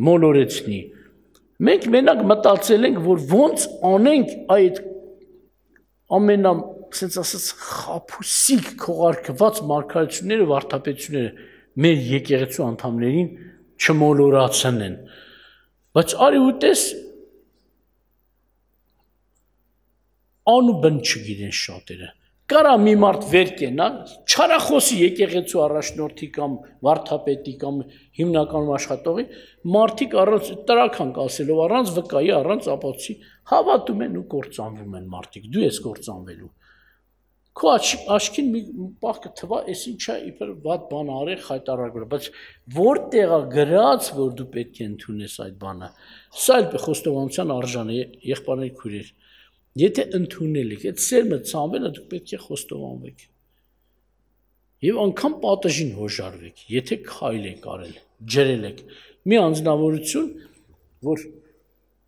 մոլորեցնի։ Մենք մենակ մտածել ենք, որ ոնց անենք այդ ամենա, ասենց ասած, խաբուսիկ քողարկված մարգարեությունները, վարդապետությունները մեր եկեղեցու անդամներին չմոլորացնեն։ Բայց արի ու տես անուբն չգիտեն շատերը։ Կարա մի մարդ վեր կենա, չարախոսի եկեղեցու առաջնորդի կամ վարդապետի կամ հիմնականում աշխատողի, մարդիկ առանց տրական ասելով, առանց վկայի, առանց ապացույցի հավատում են ու կործանվում են մարդիկ, դու ես կործանվելու։ Քո աչքին մի պահ կթվա, այս ինչա իբր վատ բան արել խայտարարել, բայց որտեղ է գրած, որ դու պետք է ընդունես այդ բանը։ Սա էլ խոստովանության արժան է, եղբայրների քույրեր։ Եթե ընդունել եք, այդ սերմը ցանվել է, դուք պետք է խոստովանվեք։ Եվ անգամ պատժին հոժարվեք, եթե քայլ եք արել, ջրել եք։ Մի անձնավորություն, որ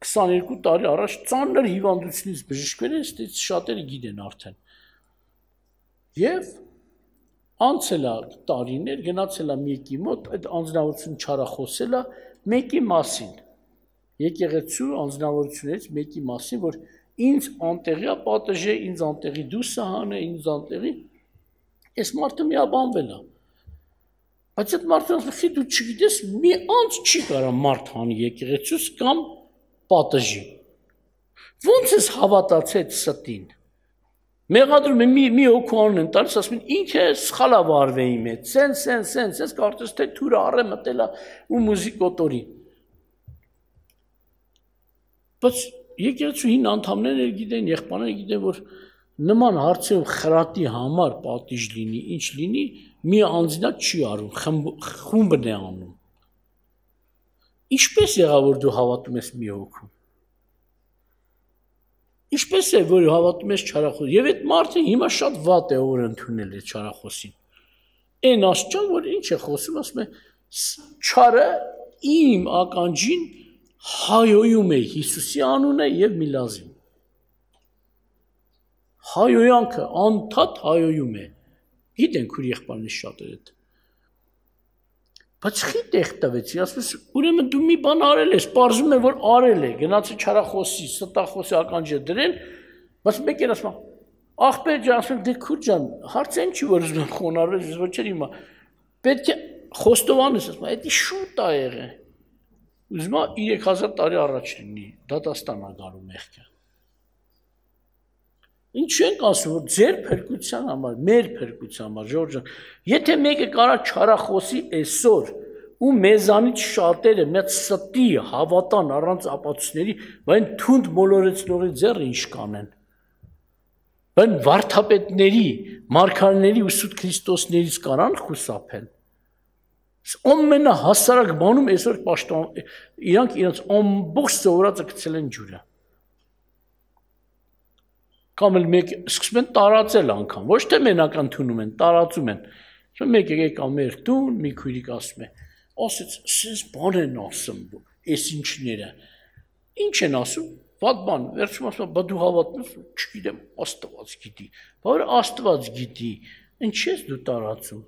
22 տարի առաջ ծանր հիվանդությունից բժշկվել է, այստեղից շատերը գիտեն արդեն։ Եվ անցել է տարիներ, գնացել է մեկի մոտ, այդ անձնավորությունը չարախոսել է մեկի մասին։ Եկեղեցու անձնավորություններից մեկի մասին, որ ինձ անտեղի է պատժե, ինձ անտեղի դուսը հանե, ինձ անտեղի, այս մարդը միաբանվել է։ Բայց այդ մարդը ասում է, դու չգիտես, մի անց չի կարա մարդ հանի եկեղեցուց կամ պատժի։ Ոնց ես հավատացել ստին։ Մեղադրում է մի հոգուանն են տալիս, ասում են ինքը սխալ է վարվել իմ հետ, սենց, կարծես թե թուրը առե մտել է ու մուզիկ օտորի։ Բայց եկեղեցու հին անդամները գիտեն, եղբայրները գիտեն, որ նման հարցերով խրատի համար պատիժ լինի, ինչ լինի, մի անձնակ չի արում, խումբն է անում։ Ինչպես եղավ որ դու հավատում ես մի հոգու։ Ինչպես է, որ հավատում ես չարախոս։ Եվ այդ մարդը հիմա շատ վատ է որ ընդունել է չարախոսին։ Այն աստիճան, որ ինչ է խոսում, ասում է չարը իմ ականջին հայոյում է Հիսուսի անունը եւ Միլազին։ Հայոյանքը անդադ հայոյում է։ Գիտենք ուր եղբայրնից շատերը դա։ Բայց խի տեղ տվեցի, ասում ես, ուրեմն դու մի բան արել ես, պարզում է որ արել է, գնացի չարախոսի, ստախոսի ականջը դրել, բայց մեկ էլ ասում ախպեր ջան, ասում դե քուր ջան, հարցը ինչի որ ուզում խոնարհվել, ես ոչ չեմ հիմա։ Պետք է խոստովանես, ասում դա շուտ ա եղել։ Ուզում ա 3000 տարի առաջ լինի, դատաստան ա գալու մեղքը։ Ինչ ենք ասում, որ ձեր փրկության համար, մեր փրկության համար, Ժորժ ջան, եթե մեկը կարա չարախոսի այսօր ու մեզանից շատերը մեծ ստի հավատան առանց ապացույցների, բայց թունդ մոլորեցնողի ձեռը ինչ կանեն։ Բայց վարդապետների, մարգարեների ու Սուրբ Քրիստոսներից կարան խուսափեն։ Ամենահասարակ բանում այսօր պաշտոն իրանք իրենց ամբողջ սովորածը գցել են ջուրը։ Կամ էլ մեկ սկսում են տարածել անգամ, ոչ թե մենակ ընդունում են, տարածում են։ Մեկը եկավ մեր տուն, մի քույրիկ ասում է, ասեց, «Սենց բան են ասում, այս ինչները»։ Ինչ են ասում, վատ բան, վերջում ասում, «Բա դու հավատում ես, չգիտեմ, Աստված գիտի»։ Բա որ Աստված գիտի, ինչ ես դու տարածում։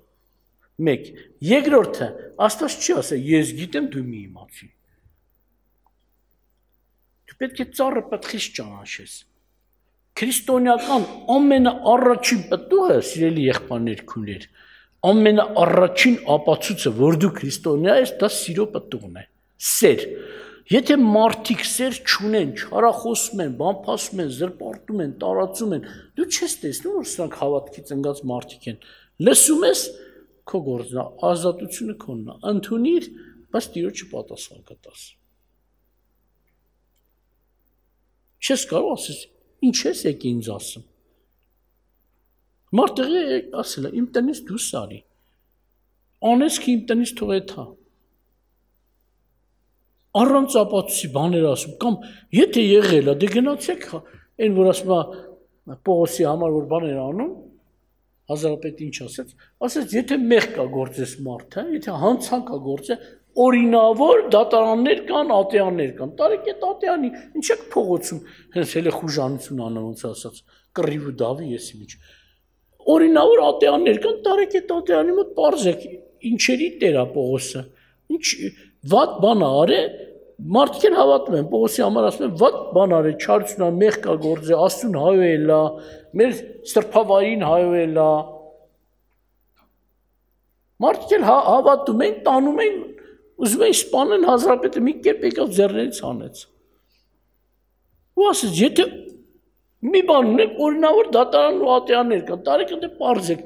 Մեկ, երկրորդը, Աստված չի ասել, ես գիտեմ, դու մի իմացի։ Դու պետք է ծառը պտղից ճանաչես։ Քրիստոնեական ամենաառաջին պտուղը, սիրելի եղբայրներ, քույրեր, ամենաառաջին ապացույցը, որ դու քրիստոնյա ես, դա սիրո պտուղն է, սեր։ Եթե մարդիկ սեր չունեն, չարախոսում են, բամփասում են, զրպարտում են, տարածում են, դու չես տեսնում, որ սրանք հավատքի ծնգած մարդիկ են։ Լսում ես, քո գործն է, ազատությունը քոնն է, ընդունիր, բայց Տիրոջը պատասխան կտաս։ Չես կարող ասես, ինչ ես եկի ինձ ասում։ Մարդը ասել է, իմ տնից դուրս արի։ Անես ki իմ տնից թողեթա։ Առանց ապացույցի բաներ ասում, կամ եթե եղել է, դե գնացեք, այն որ ասում է Պողոսի համար որ բաներ անում, հազարապետը ինչ ասեց, եթե մեղ կա գործես մարդը, եթե հանցանք կա գործը, օրինավոր դատարաններ կան, ատեաններ կան, տարեք այդ ատեանի, ինչ եք փողոցում, հենց հել է խուժանություն անում, ոնց ասած, կռիվ ու դավի ես ինչ։ Օրինավոր ատեաններ կան, տարեք այդ ատեանի մոտ պարզեք, ինչերի տեր է Պողոսը, ինչ վատ բան արե, մարդիկ են հավատում են, Պողոսի համար ասում են, վատ բան արե, չարությունա, մեղ կա գործը, Աստծուն հայոյել է, մեր սրբավայրին հայոյել է։ Մարդիկ են հավատում են, տանում են, ուզում են սպանեն հազարապետը մի կերպ եկավ ձեռներից հանեց։ Ու ասեց, եթե մի բան ունեք, օրինավոր դատարան ու ատեաններ կան, տարեք ընդ պարզեք,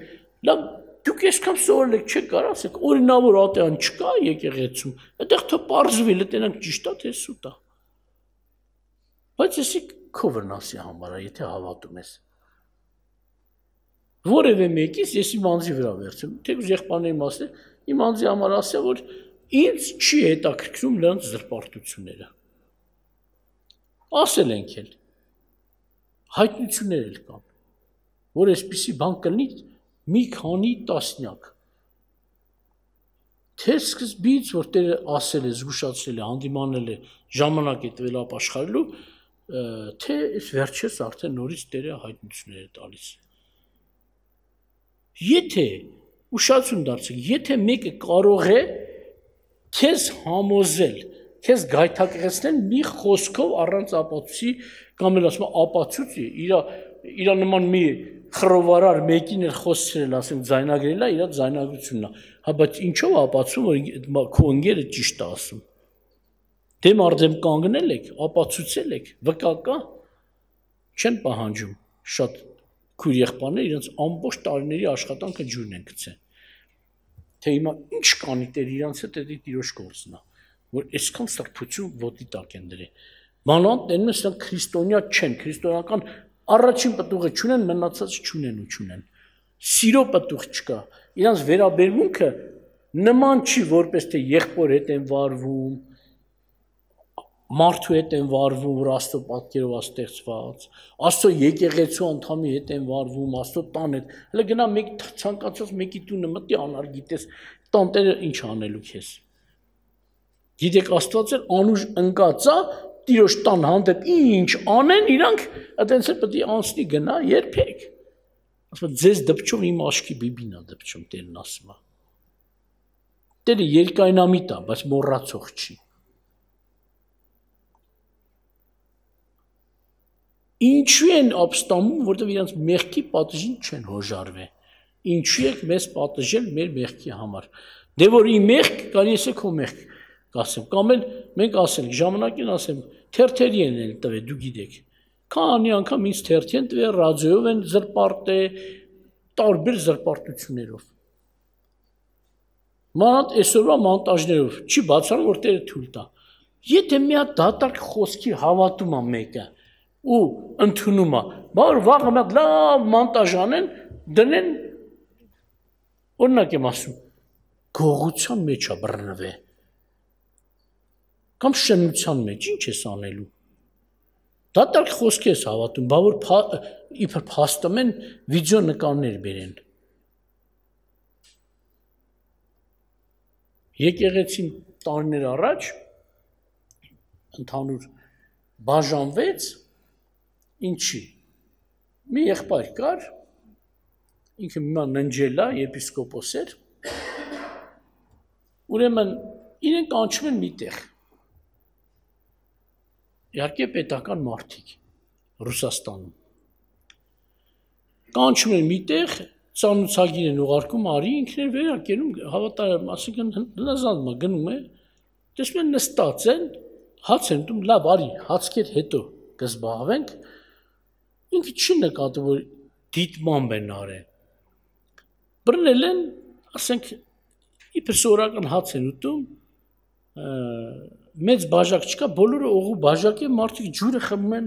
լավ դուք այսքան սովորել եք, չեք կարող ասեք, օրինավոր ատեան չկա եկեղեցում, այդտեղ թող պարզվի, լտենանք ճիշտ է թե սուտ է։ Բայց էսի քո վնասի համար է, եթե հավատում ես։ Որևէ մեկից ես իմ անձի վրա վերցեմ, թեկուզ եղբայրների մասը, իմ անձի համար ասա, որ ինձ չի հետաքրքրում նրանց զրպարտությունները։ Ասել ենք էլ, հայտնություններ էլ կան, որ այսպիսի բան կլինի մի քանի տասնյակ։ Թե սկզբից, որ Տերը ասել է, զգուշացրել է, հանդիմանել է, ժամանակ է տվել ապաշխարելու, թե այս վերջերս արդեն նորից Տերը հայտնություններ է տալիս։ Եթե ուշադրություն դարձեք, եթե մեկը կարող է քեզ համոզել, քեզ գայթակղեցնել մի խոսքով առանց ապացույցի, կամ էլ ասում ապացույց իր նման մի խռովարար մեկին էլ խոսել, ասեմ ձայնագրել է, իր ձայնագրությունն է։ Հա բայց ինչով ապացում, որ քո ընկերը ճիշտ է ասում։ Դեմ արդեմ կանգնել եք, ապացուցել եք, վկա կա, չեն պահանջում շատ քույր եղբայրներ իրենց ամբողջ տարիների աշխատանքը ջուրն են գցել։ Թե հիմա ինչ կանի Տեր իրանց հետ էդի Տիրոջ գործն է, որ այսքան սրբություն ոտի տակ են դրել։ Մանավանդ տենում են սրանք քրիստոնյա չեն, քրիստոնեական առաջին պտուղը չունեն, մնացածը չունեն ու չունեն։ Սիրո պտուղ չկա։ Իրանց վերաբերմունքը նման չի, որպես թե եղբոր հետ են վարվում, մարդու հետ են վարվում, որ Աստծո պատկերով աստեղծված, Աստծո եկեղեցու անդամի հետ են վարվում, Աստծո տան հետ։ Հələ գնա մեկ ցանկացած մեկի տունը մտի անար գիտես, տանտերը ինչ անելու քեզ։ Գիտեք Աստված էլ անուշ ընկածա, Տիրոջ տան հանդեպ ինչ անեն, իրանք այդպես էլ պետք է անցնի գնա երբեք։ Ասում ձեզ դպչում իմ աշկի բիբին է դպչում Տերն ասում է։ Տերը երկայնամիտ է, բայց մոռացող չի։ Ինչու են ապստամում, որտեղ իրանց մեղքի պատժին չեն հոժարվել։ Ինչու եք մեզ պատժել մեր մեղքի համար։ Դե որ ի մեղք կարի ես քո մեղք կասեմ, կամ էլ մենք ասենք ժամանակին ասեմ թերթերի են տվել, դու գիտեք։ Քանի անգամ ինձ թերթի են տվել, ռադիոյով են զրպարտել, տարբեր զրպարտություններով։ Մանավանդ այսօրվա մոնտաժներով չի բացառում, որ Տերը թույլ տա։ Եթե մի հատ դատարկ խոսքի հավատում է մեկը ու ընդունում է, բար վաղը մի հատ լավ մոնտաժ անեն, դնեն, օրինակ եմ ասում, գողության մեջ է բռնվել, կամ շնության մեջ, ինչ ես անելու։ Դատարկ խոսքի ես հավատում, բա որ իբր փաստում են վիդեո նկարներ բերեն։ Եկեղեցին տարիներ առաջ ընդհանուր բաժանվեց, ինչի։ Մի եղբայր կար, ինքը հիմա ննջել է, եպիսկոպոս էր, ուրեմն իրեն կանչում են մի տեղ։ Իհարկե պետական մարդիկ Ռուսաստանում։ Կանչում են մի տեղ, ծանուցագիր են ուղարկում, արի ինքն էր վերակենում, հավատարիմ, ասիկան հնազանդում է, գնում է, տեսնում են նստած են, հաց են ուտում, լավ, արի, հացքեր հետո կզբաղվենք, ինքը չի նկատում, որ դիտմամբ են արել։ Բռնել են, ասենք, իբր սովորական հաց են ուտում, մեծ բաժակ չկա, բոլորը օղու բաժակ է, մարդիկ ջուրը խմում են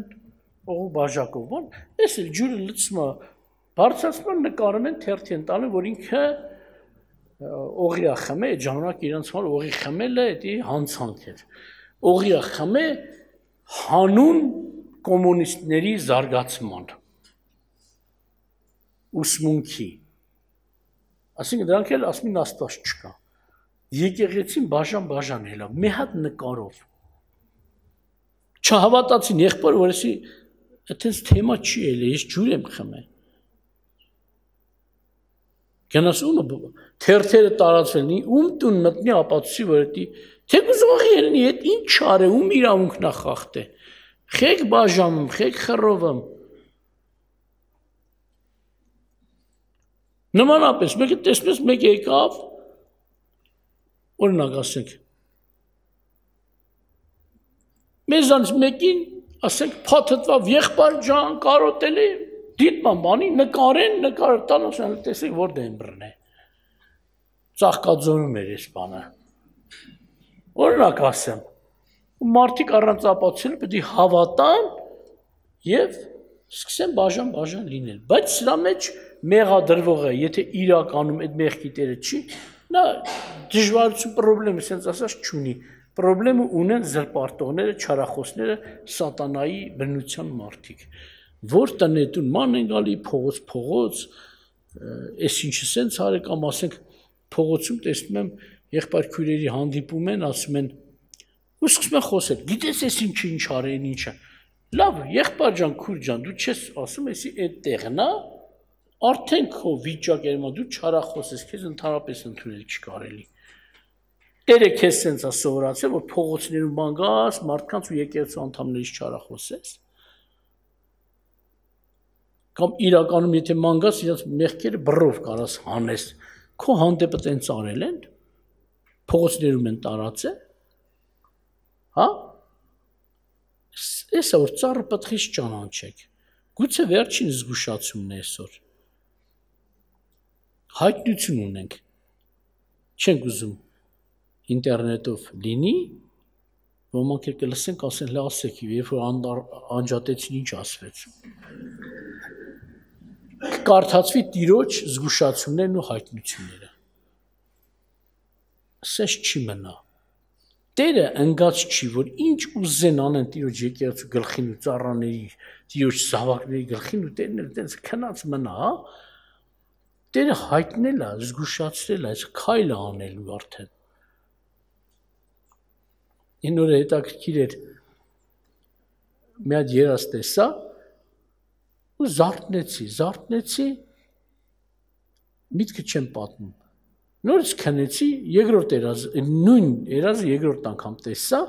օղու բաժակով, բան, ես էլ ջուրը լցում է, բարձրացնում են նկարում են, թերթի են տալում, որ ինքը օղի է խմել, այդ ժամանակ իրանց համար օղի խմելը էդի հանցանք էր, օղի է խմել հանուն կոմունիստների զարգացման, ուսմունքի, ասինքն դրանք էլ ասում են Աստված չկա, եկեղեցին բաժան հելա, մի հատ նկարով, չհավատացին եղբոր, որ եսի այդպես թեմա չի էլ, ես ջուր եմ խմել, գնաս ումը թերթերը տարածվել, ում տուն մտնի ապացուցի, որ էդի, թեկուզ ողի երնի, էդ ինչ չար է, ում իրավունքն է խախտե, խեք բաժանում, խեք խռովում, նմանապես, մեկը տեսնես մեկ եկավ, օրինակ ասենք, մեզանց մեկին, ասենք, փաթթվավ եղբայր ջան, կարոտելի, դիտման բանի, նկարեն տան, ասեն, տեսեք, որտե են բռնել, ծաղկաձոնում էր ես բանը, օրինակ ասեմ, մարդիկ առանց ապացուցել պետք է հավատան և սկսեն բաժան լինել, բայց սրա մեջ մեղադրվողը, եթե իրականում այդ մեղքի տերը չի, նա դժվարություն պրոբլեմը սենց ասած չունի, պրոբլեմը ունեն զրպարտողները, չարախոսները, սատանայի բնության մարդիկ, որ տնետուն ման են գալի, փողոց, ես ինչը սենց արեք, կամ ասենք փողոցում տեսնում եմ եղբայր քույրերի հանդիպում են, ասում են, ու սկսում են խոսել, գիտես ես ինչ արեն, ինչը, լավ, եղբայր ջան, քույր ջան, դու չես ասում, եսի այդ տեղն է, արդեն քո վիճակ երմա, դու չարախոս ես, քեզ ընդհանրապես ընդունել չկարելի։ Տերը քեզ սենց է սովորացել, որ փողոցներում բան գաս, մարդկանց ու եկեղեցու անդամներից չարախոսես։ Կամ իրականում եթե ման գաս, իրենց մեղքերը բռով կարաս հանես, քո հանդեպը տենց արել են, փողոցներում են տարածել, հա։ Էսա որ ծառը պտղից ճանաչեք, գուցե վերջին զգուշացումն է այսօր, հայտնություն ունենք, չենք ուզում ինտերնետով լինի, ոմանք էլ կլսենք, ասեն լասեք, երբ որ անջատեցին ինչ ասվեց, կարդացվի տիրոջ զգուշացումներն ու հայտնությունները, սես չի մնա, Տերը ընկած չի, որ ինչ ուզեն անեն Տիրոջ եկեղեցու գլխին ու ծառաների, Տիրոջ զավակների գլխին ու Տերն էլ տենց քնած մնա, հա։ Տերը հայտնել է, զգուշացրել է, այս քայլը անելու արդեն։ Այն օրը հետաքրքիր էր, մի հատ երազ տեսա ու զարթնեցի, միտքը չեմ պատմում։ Նորից քնեցի, երկրորդ նույն երազը երկրորդ անգամ տեսա,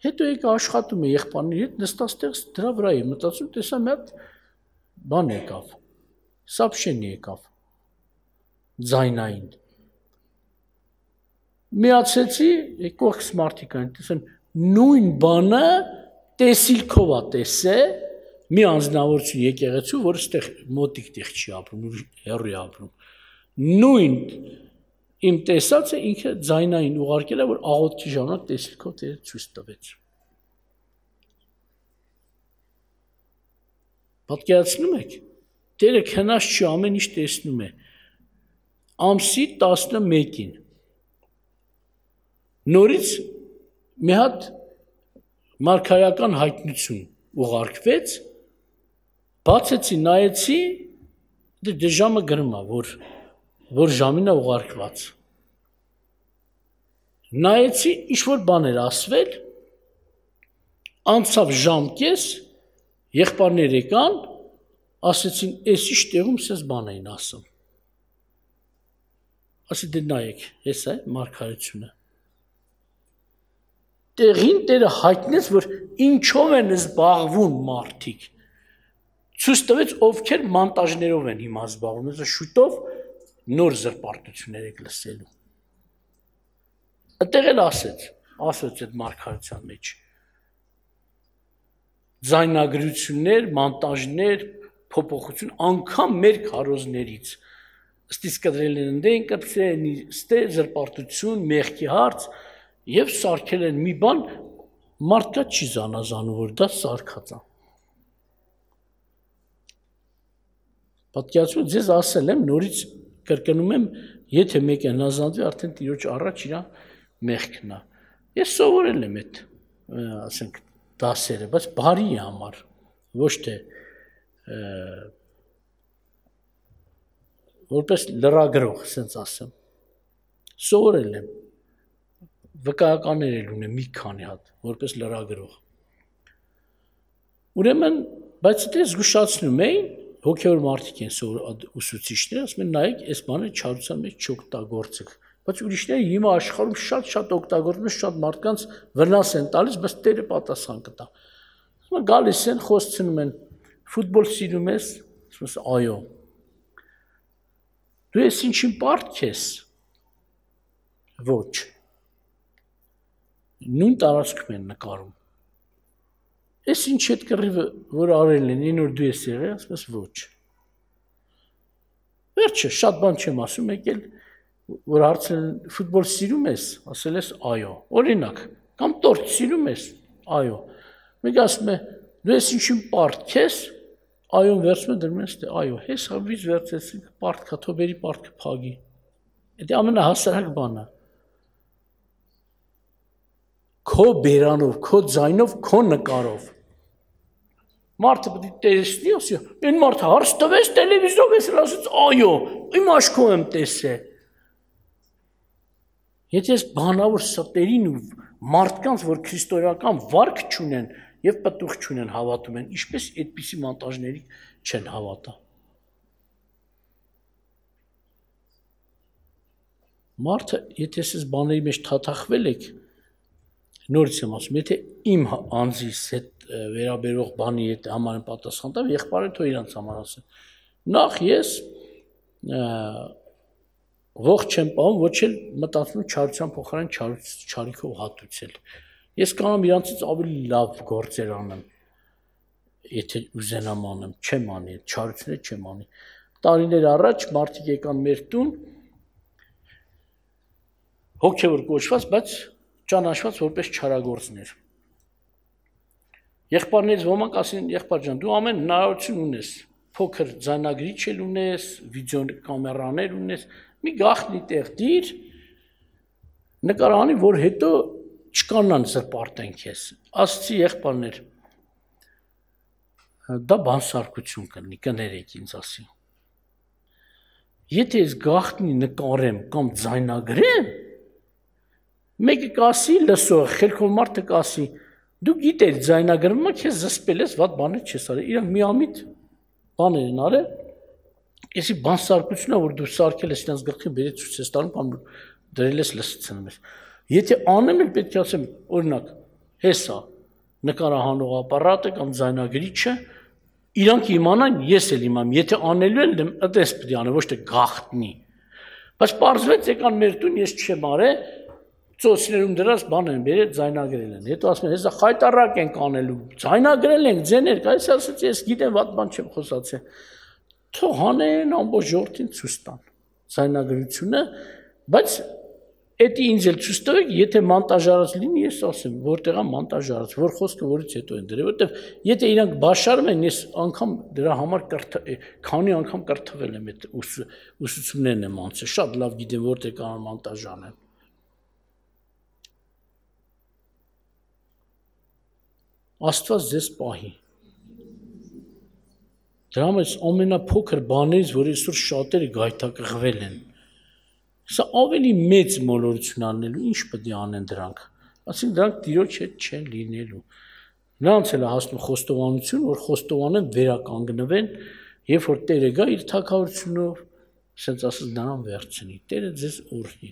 հետո եկա աշխատում է եղբայրների հետ, նստած տեղս դրա վրա եմ մտածում, տեսա մի հատ բան եկավ, սապշեն եկավ, ձայնային։ Միացեցի, կողքս մարդիկ այն տեսան, նույն բանը տեսիլքով է տեսել, մի անձնավորություն եկեղեցու, որը ստեղ մոտիկ տեղ չի ապրում, հեռու է ապրում։ Նույն իմ տեսածը ինքը ձայնային ուղարկել է, որ աղոթքի ժամանակ տեսիլքով Տերը ցույց տվեց։ Պատկերացնում եք, Տերը քնած չի, ամեն ինչ տեսնում է։ Ամսի 11-ին նորից մի հատ մարգարեական հայտնություն ուղարկվեց, բացեցի, նայեցի, դե ժամը գրում է, որ ժամին է ուղարկված։ Նայեցի, ինչ-որ բան էր ասվել, անցավ ժամ կես, եղբայրներ եկան, ասեցին, էս ինչ տեղում սես բան էին ասում։ Ասի դե նայեք, ես է մարգարեությունը։ Տեղին Տերը հայտնեց, որ ինչով են զբաղվում մարդիկ։ Ցույց տվեց, ովքեր մոնտաժներով են հիմա զբաղվում, այսինքն շուտով նոր զրպարտություններ եք լսելու։ Այդտեղ էլ ասեց այդ մարգարեության մեջ։ Ձայնագրություններ, մոնտաժներ, փոփոխություն, անգամ մեր քարոզներից։ Ըստի սկդրել են դեն կպսեն, ստե զրպարտություն, մեղքի հարց եւ սարքել են մի բան, մարդկա չի զանազանում, որ դա սարքած է։ Պատկերացրու, ձեզ ասել եմ, նորից կրկնում եմ, եթե մեկը հնազանդվի, արդեն Տիրոջ առաջ իր մեղքն է։ Ես սովորել եմ այդ, ասենք, դասերը, բայց բարի համար, ոչ թե որպես լրագրող, ասենց ասեմ։ Սովորել եմ։ Վկայականներ էլ ունեմ մի քանի հատ, որպես լրագրող։ Ուրեմն, բայց դե զգուշացնում էին, հոգևոր մարդիկ են ուսուցիչները, ասում են նայեք, այս բանը չարության մեջ չօգտագործեք, բայց ուրիշները հիմա աշխարհում շատ օգտագործում են, շատ մարդկանց վնաս են տալիս, բայց Տերը պատասխան կտա։ Ասում են գալիս են, խոսցնում են, ֆուտբոլ սիրում ես, ասում ես այո։ Դու ես ինչին պարտք ես։ Ոչ։ Նույն տարածքում են նկարում։ Ես ինչ այդ կռիվը, որ արել են, այն որ դու ես եղել, ասում ես ոչ։ Վերջը, շատ բան չեմ ասում, եկել, որ հարցել են, ֆուտբոլ սիրում ես, ասել ես այո։ Օրինակ, կամ տորտ սիրում ես, այո։ Մեկ ասում է, դու ես ինչին պարտք ես, այոն վերցում է դրում ես, այո, հես հավից վերցեցին, պարտքա, թոբերի պարտքը փագի։ Դա ամենահասարակ բանը։ Քո բերանով, քո ձայնով, քո նկարով։ Մարդը պետք է տեսնի, ասի, այն մարդը հարց տվեց տելևիզորով, ես ասեց, այո, իմ աչքով եմ տեսել։ Եթե ես բանավոր ստերին ու մարդկանց, որ քրիստոնեական վարք չունեն եւ պտուղ չունեն, հավատում են, ինչպես այդպիսի մոնտաժների չեն հավատա։ Մարդը, եթե ես բաների մեջ թաթախվել եք, նորից եմ ասում, եթե իմ անձիս հետ վերաբերող բանի հետ համարեն պատասխան տամ, եղբայրը թող իրանց համար ասեն։ Նախ ես ողջ չեմ պահում, ոչ էլ մտածում չարության փոխարեն չարիքով հատուցել։ Ես կանամ իրանցից ավելի լավ գործեր անեմ, եթե ուզենամ անեմ, չեմ անի, չարությունը չեմ անի։ Տարիներ առաջ մարդիկ եկան մեր տուն, հոգևոր կոչված, բայց ճանաչված որպես չարագործներ։ Եղբայրներից ոմանք ասին, եղբայր ջան, դու ամեն հնարավորություն ունես, փոքր ձայնագրիչ էլ ունես, վիդեո կամերաներ ունես, մի գաղտնի տեղ դիր, նկարանի, որ հետո չկանան զրպարտեն քեզ։ Ասացի եղբայրներ, դա բանսարկություն կլինի, կներեք ինձ ասի։ Եթե ես գաղտնի նկարեմ կամ ձայնագրեմ, մեկը կասի լսող, խելքով մարդը կասի, դու գիտես ձայնագրումը քեզ զսպել ես, վատ բաներ չես արել, իրանք միամիտ բաներ են արել, եսի բանսարկությունը, որ դու սարքել ես իրենց գլխին բերեց ցույց ես տալու կամ դրել ես լսցնում ես։ Եթե անեմ էլ պետք է ասեմ, օրինակ, հեսա նկարահանող ապարատը կամ ձայնագրիչը իրանք իմանան, ես էլ իմամ, եթե անելու եմ, այդպես պետք է անեմ, ոչ թե գաղտնի։ Բայց պարզվեց եկան մեր տուն, ես չեմ արել, ծոցներում դրած բան են բերել, ձայնագրել են։ Հետո ասում են, հեսա խայտարակ ենք անելու, ձայնագրել ենք, ձեներ, այս ասած ես գիտեմ, վատ բան չեմ խոսացել։ Թող անեն ամբողջ ժողովրդին ցույց տան ձայնագրությունը, բայց Էդի ինձ էլ ցույց տվեք, եթե մոնտաժարած լինի, ես ասեմ, որտեղ է մոնտաժարած, որ խոսքը որից հետո են դրել, որտեղ եթե իրանք բաշարում են, ես անգամ դրա համար քանի անգամ կրթվել եմ այդ ուսուցումներն եմ անցել, շատ լավ գիտեմ որտեղ կարող մոնտաժ անեն։ Աստված ձեզ պահի։ Դրա մեջ ամենափոքր բաներից, որ այսօր շատերը գայթակղվել են։ Սա ավելի մեծ մոլորություն անելու, ինչ պետք է անեն դրանք, ասին դրանք տիրոջ հետ չեն լինելու, նրանց էլ է հասնում խոստովանություն, որ խոստովանեն վերականգնվեն, երբ որ Տերը գա իր թագավորությունով, ասենց ասած նրան վերցնի, Տերը ձեզ օրհնի։